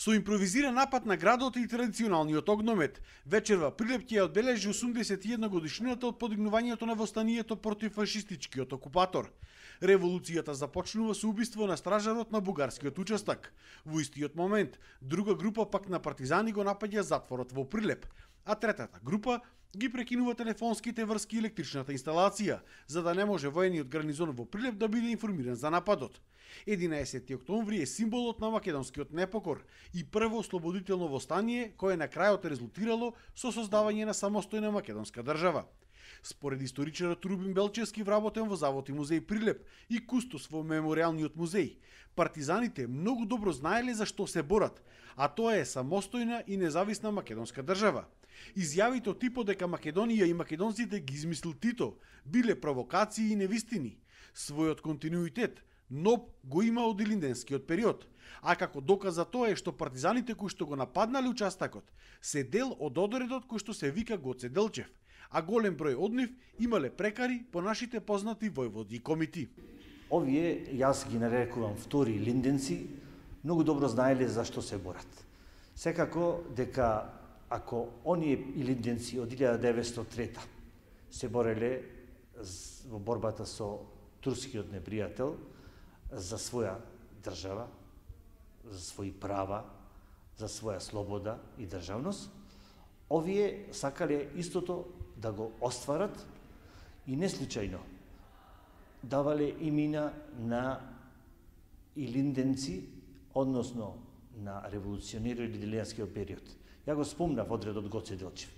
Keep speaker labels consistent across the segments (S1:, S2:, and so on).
S1: Со импровизиран напад на градот и традиционалниот огномет, вечерва Прилеп ќе одбележи 81 годишнината од подигнувањето на востанието против фашистичкиот окупатор. Револуцијата започнува со убиство на стражарот на бугарскиот учестак. Во истиот момент, друга група пак на партизани го напаѓа затворот во Прилеп, а третата група ги прекинува телефонските врски и електричната инсталација, за да не може воениот гарнизон во Прилеп да биде информиран за нападот. 11 октомври е символот на македонскиот непокор и прво ослободително востание кое на крајот резултирало со создавање на самостојна македонска држава. Според историчарот Рубин Белчевски, вработен во Завод и музеј Прилеп и кустос во мемориалниот музеј, партизаните многу добро знаеле за што се борат, а тоа е самостојна и независна македонска држава. Изјавите од типот дека Македонија и македонците ги измислил Тито биле провокации и невистини. Својот континуитет НОБ го има од илинденскиот период, а како доказ за тоа е што партизаните кои што го нападнале участакот се дел од одредот кој што се вика Гоце Делчев, а голем број од нив имале прекари по нашите познати војводи и комити.
S2: Овие, јас ги нарекувам втори илинденци, многу добро знаеле за што се борат. Секако дека ако оние илинденци од 1903 се бореле во борбата со турскиот непријател за своја држава, за своји права, за своја слобода и државност, овие сакале истото да го остварат и не случајно давале имена на илинденци, односно на револуционери од илинденскиот период. Ја го спомнав одредот Гоце Делчев.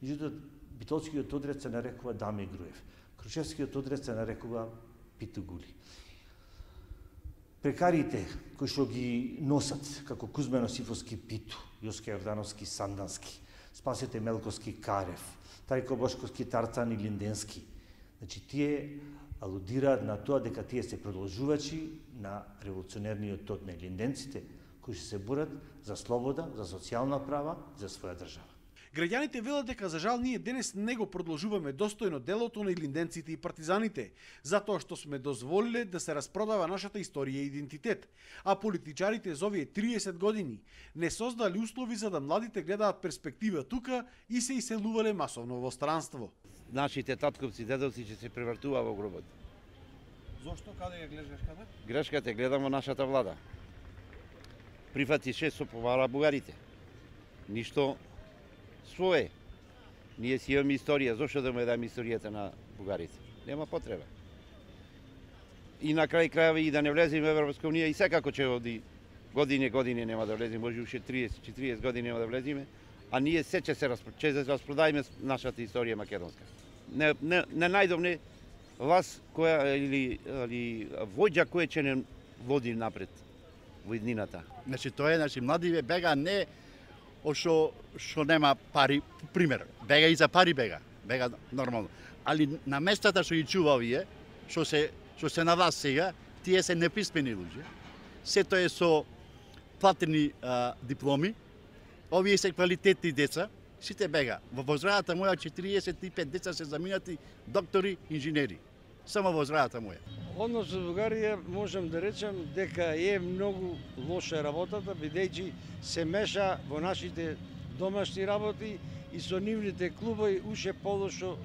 S2: Меѓутоа, битолскиот одред се нарекува Даме Груев. Крушевскиот одред се нарекува Питу Гули. Прекарите кои што ги носат, како Кузмено Сифовски Питу, Јоске Јордановски Сандански, Спасете Мелковски Карев, Тајко Бошковски Тарцан и Линденски, значи тие алудираат на тоа дека тие се продолжувачи на револуционерниот тод на линденците, кои се борат за слобода, за социјална права, за своја држава.
S1: Граѓаните велат дека за жал ние денес не го продолжуваме достојно делото на илинденците и партизаните, затоа што сме дозволиле да се распродава нашата историја и идентитет, а политичарите за овие 30 години не создали услови за да младите гледаат перспектива тука и се иселувале масовно во странство.
S3: Нашите татковци, дедовци ќе се превртува во гробот.
S1: Зошто? Каде ја гледаш грешката?
S3: Грешката гледам во нашата влада. Прифатише со повара бугарите. Ништо свое. Ние си имаме историја, зошто да му дадеме историјата на бугарите? Нема потреба. И на крај крајави и да не влеземе во Европска унија и секако ќе оди години нема да влеземе, може уште 30-40 години нема да влеземе, а ние се ќе се распродајме нашата историја македонска. Не најдовне власт која или војđа која ќе не води напред во иднината.
S4: Значи тоа е, младиве бега не што нема пари, пример, бега и за пари бега нормално. Али на местата што ги чува овие, што се на власт сега, тие се неписмени луѓе. Сето е со платени дипломи, овие се квалитетни деца, сите бега. Во возрајата моја 45 деца се заминати доктори, инженери. Само во возрајата моја.
S5: Однос со Бугарија можам да речем дека е многу лоша работата, бидејќи се меша во нашите домашни работи и со нивните клубови уште полошо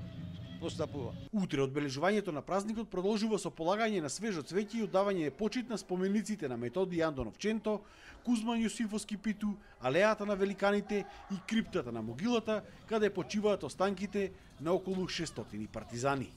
S5: постапува.
S1: Утре одбележувањето на празникот продолжува со полагање на свежо цвеќе и одавање почит на спомениците на Методи Андонов Ченто, Кузман Јосифовски Питу, алејата на великаните и криптата на могилата, каде почиваат останките на околу 600 партизани.